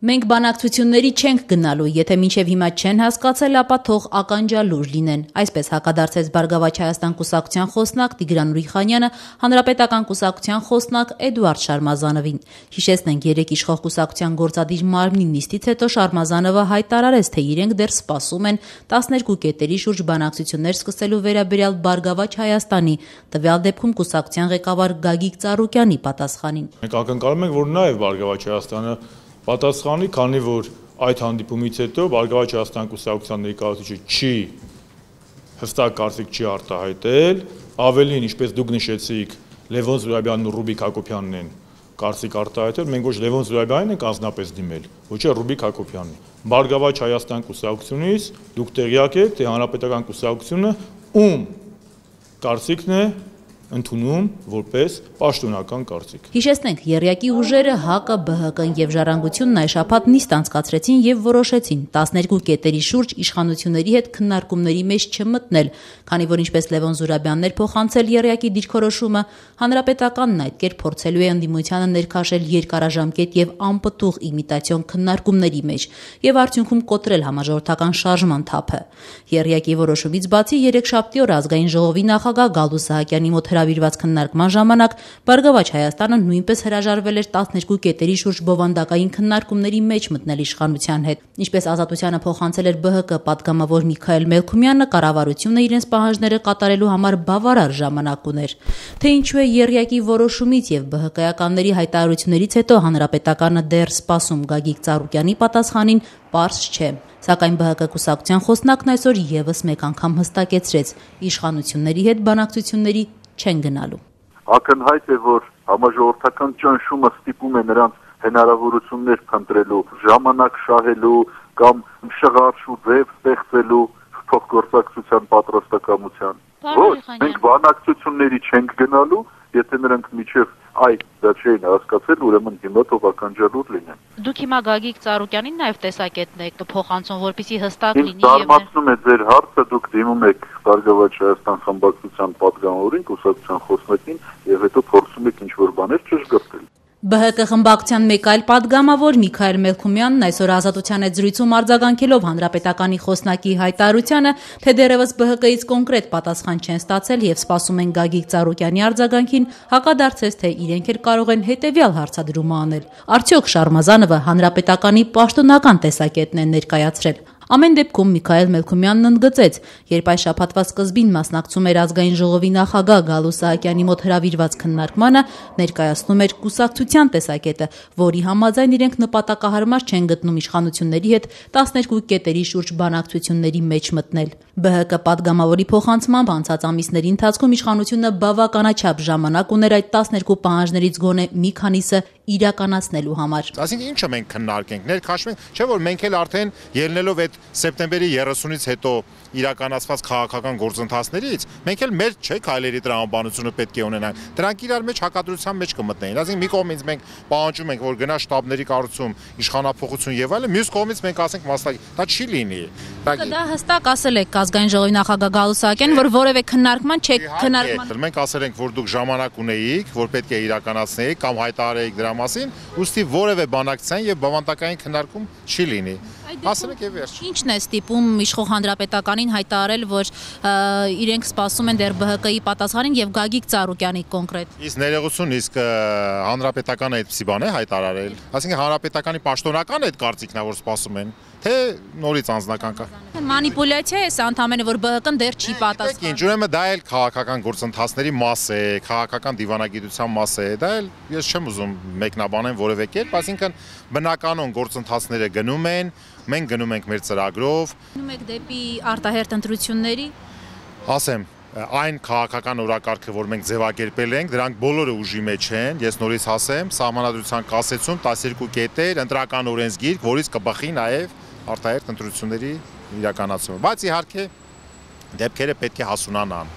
Մենք բանակցությունների չենք գնալու, եթե մինչև հիմա չեն հասկացել, ապա թող ականջալուր լինեն։ Այսպես հակադարձեց Բարգավաճ Հայաստան կուսակցության խոսնակ Տիգրան Ուրիխանյանը Հանրապետական կուսակցության խոսնակ Էդուարդ Շարմազանովին։ Հիշեցնենք, երեկ իշխող կուսակցության գործադիր մարմնի նիստից հետո Շարմազանովը հայտարարեց, թե իրենք դեռ սպասում են 12 կետերի շուրջ բանակցություններ սկսելու վերաբերյալ Բարգավաճ Հայաստանի, տվյալ դեպքում կուսակցության ղեկավար Գագիկ Ծառուկյանի պատասխանին։ Մենք ակնկալում ենք, որ նաև Բարգավաճ Հայաստանը պատասխանի, քանի որ այդ հանդիպումից հետո Բարգավաճ Հայաստան կուսակցության ներկայացուցիչը չի հստակ կարծիք չի արտահայտել, ավելին, ինչպես դուք նշեցիք, Լևոն Զուրաբյանն ու Ռուբիկ Հակոբյանն են կարծիք արտահայտել, մենք ոչ Լևոն Զուրաբյանին ենք անձնապես դիմել, ոչ էլ Ռուբիկ Հակոբյանին։ Բարգավաճ Հայաստան կուսակցությունից դուք տեղյակ եք, թե Հանրապետական կուսակցությունը ում կարծիքն է ընդունում որպես պաշտոնական կարծիք։ Հիշեցնենք, եռյակի ուժերը ՀԱԿ-ը, ԲՀԿ-ն եւ Ժառանգությունն այս շաբաթ նիստ անցկացրեցին եւ որոշեցին 12 կետերի շուրջ իշխանությունների հետ քննարկումների մեջ չմտնել, քանի որ ինչպես Լևոն Զուրաբյանն էր փոխանցել եռյակի դիրքորոշումը, Հանրապետականն այդ կերպ փորձելու է ընդդիմությանը ներքաշել երկարաժամկետ եւ անպտուղ իմիտացիոն քննարկումների մեջ եւ արդյունքում կոտրել համաժողովրդական շարժման թափը։ Եռյակի որոշումից բացի երեքշաբթի օր ազգային ժողովի նախագահ Գալու Սահակյանի մոտ հրավիրված քննարկման ժամանակ Բարգավաճ Հայաստանը նույնպես հրաժարվել էր 12 կետերի շուրջ բովանդակային քննարկումների մեջ մտնել իշխանության հետ։ Ինչպես Ազատությանը փոխանցել էր ԲՀԿ պատգամավոր Միքայել Մելքումյանը, կառավարությունը իրենց պահանջները կատարելու համար բավարար ժամանակ ուներ։ Թե ինչու է եռյակի որոշումից եւ ԲՀԿ-ականների հայտարարություններից հետո Հանրապետականը դեռ սպասում Գագիկ Ծառուկյանի պատասխանին, պարզ չէ։ Սակայն ԲՀԿ կուսակցության խոսնակն այսօր եւս մեկ անգամ հստակեցրեց՝ իշխանությունների հետ բանակցությունների չեն գնալու։ Ակնհայտ է, որ համաժողովրդական ճնշումը ստիպում է նրանց հնարավորություններ փնտրելու, ժամանակ շահելու կամ շղարշ ու ձև ստեղծելու փոխգործակցության պատրաստակամության։ Ոչ, մենք բանակցությունների չենք գնալու, եթե նրանք միջև դա չէին հասկացել, ուրեմն հիմա թող ականջալուր լինեն։ Դուք հիմա Գագիկ Ծառուկյանին նաև տեսակետն եք փոխանցում, որպեսզի հստակ լինի եւ զարմացնում է ձեր հարցը, դուք դիմում եք Բարգավաճ Հայաստան խմբակցության պատգամավորին, կուսակցության խոսնակին եւ հետո փորձում եք ինչ-որ բաներ ճշգրտել։ ԲՀԿ խմբակցության մեկ այլ պատգամավոր Միքայել Մելքումյանն այսօր Ազատության հետ զրույցում արձագանքելով Հանրապետականի խոսնակի հայտարարությանը, թե դեռևս ԲՀԿ-ից կոնկրետ պատասխան չեն ստացել եւ սպասում են Գագիկ Ծառուկյանի արձագանքին, հակադարձեց, թե իրենք էլ կարող են հետեւյալ հարցադրումը անել. Արդյոք Շարմազանովը Հանրապետականի պաշտոնական տեսակետն է ներկայացրել։ Ամեն դեպքում Միքայել Մելքումյանն ընդգծեց, երբ այս շաբաթվա սկզբին մասնակցում էր ազգային ժողովի նախագահ Գալու Սահակյանի մոտ հրավիրված քննարկմանը, ներկայացնում էր կուսակցության տեսակետը, որի համաձայն իրենք նպատակահարմար չեն գտնում իշխանությունների հետ 12 կետերի շուրջ բանակցությունների մեջ մտնել։ ԲՀԿ պատգամավորի փոխանցմամբ անցած ամիսների ընթացքում իշխանությունը բավականաչափ ժամանակ ուներ այդ 12 պահանջներից գոնե մի քանիսը իրականացնելու համար։ Այսինքն ինչը մենք քննարկենք, ներքաշվենք, չէ՞ որ մենք էլ արդեն ելնելով այդ սեպտեմբերի 30-ից հետո իրականացված քաղաքական գործընթացներից մենք էլ մեր չէ քայլերի տրամաբանությունը պետք է ունենանք։ Դրանք իրար մեջ հակադրության մեջ կմտնեն։ Այսինքն մի կողմից մենք պահանջում ենք, որ գնա շտաբների կառուցում, իշխանափոխություն եւ այլն, մյուս կողմից մենք ասենք մասնակից, դա չի լինի։ Դա հստակ ասել եք ազգային ժողովի նախագահ Գալու Սահակյան, որ որևէ քննարկման չեք քննարկման։ Մենք ասել ենք, որ դուք ժամանակ ունեիք, որ պետք է իրականացնեիք կամ հայտարարեիք դրա մասին, ուստի որևէ բանակցային եւ բավանդակային քննարկում չի լինի։ Ասել եք եւ վերջ։ Ինչն է ստիպում իշխող Հանրապետականին հայտարարել, որ իրենք սպասում են դեռ ԲՀԿ-ի պատասխանին եւ Գագիկ Ծառուկյանի կոնկրետ։ Իսկ ներողություն, իսկ Հանրապետականը այդպիսի բան է հայտարարել։ Այսինքն Հանրապետականի պաշտոնական այդ կարծիքն է, որ սպասում են, թե նորից անձնական կա։ Մանիպուլյացիա է սա ընդհանրապես, որ ԲՀԿ-ն դեռ չի պատասխանում։ Ինչ ուրեմն դա էլ քաղաքական գործընթացների մաս է, քաղաքական դիվանագիտության մաս է, դա էլ ես չեմ ուզում մեկնաբանեմ որևէ կերպ, այսինքն բնականon գործընթացները գնում են, մենք գնում ենք մեր ծրագրով։ Գնում եք դեպի արտահերթ ընտրությունների։ Ասեմ, այն քաղաքական օրակարգը, որ մենք ձևակերպել ենք, դրանք բոլորը ուժի մեջ են, ես նորից ասեմ, Սահմանադրության կասեցում 12 կետեր, ընտրական օրենսգիրք, որից կբխի նաև արտահերթ ընտրությունների իրականացումը, բայց իհարկե դեպքերը պետք է հասունանան։